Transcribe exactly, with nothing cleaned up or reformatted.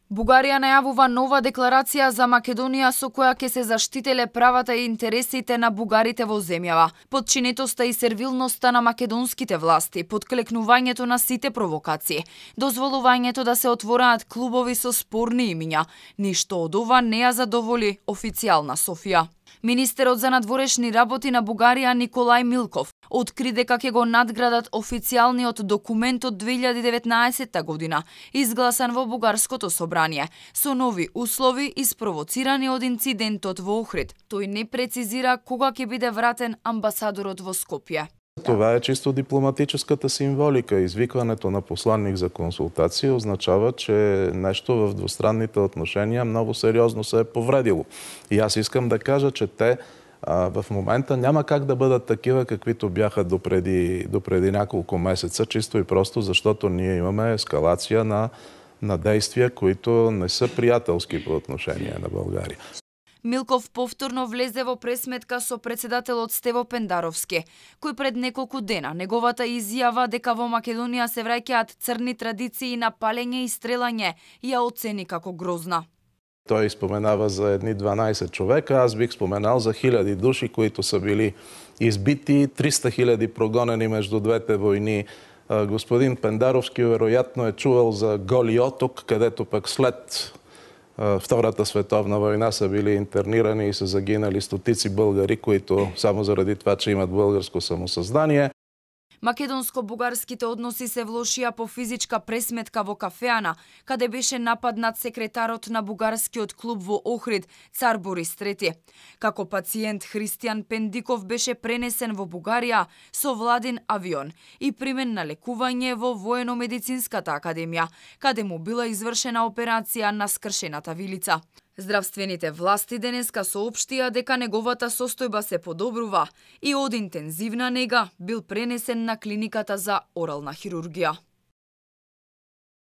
Бугарија најавува нова декларација за Македонија со која ќе се заштителе правата и интересите на бугарите во земјава, подчинетоста и сервилноста на македонските власти, подклекнувањето на сите провокации, дозволувањето да се отвораат клубови со спорни имиња. Ништо од ова не ја задоволи официјална Софија. Министерот за надворешни работи на Бугарија Николај Милков откри дека ќе го надградат официјалниот документ од две илјади и деветнаесетта година, изгласан во бугарското собрание, со нови услови испровоцирани од инцидентот во Охрид. Тој не прецизира кога ќе биде вратен амбасадорот во Скопје. Това е чисто дипломатическата символика. Извикването на посланник за консултации означава, че нещо в двустранните отношения много сериозно се е повредило. И аз искам да кажа, че те а, в момента няма как да бъдат такива, каквито бяха допреди, допреди няколко месеца, чисто и просто защото ние имаме ескалация на, на действия, които не са приятелски по отношение на България. Милков повторно влезе во пресметка со председателот Стево Пендаровски, кој пред неколку дена неговата изјава дека во Македонија се враќаат црни традиции на палење и стрелање ја оцени како грозна. Той споменава за едни дванаесет човека, аз бих споменал за хиляди души, които са били избити, триста хиляди прогонени между двете войни. Господин Пендаровски вероятно е чувал за Голи Оток, където пък след Втората световна война са били интернирани и са загинали стотици българи, които само заради това, че имат българско самосъзнание. Македонско-бугарските односи се влошија по физичка пресметка во кафеана, каде беше нападнат секретарот на бугарскиот клуб во Охрид, цар Борис трети. Како пациент Христијан Пендиков беше пренесен во Бугарија со владин авион и примен на лекување во Воено-медицинската академија, каде му била извршена операција на скршената вилица. Здравствените власти денеска соопштија дека неговата состојба се подобрува и од интензивна нега бил пренесен на клиниката за орална хирургија.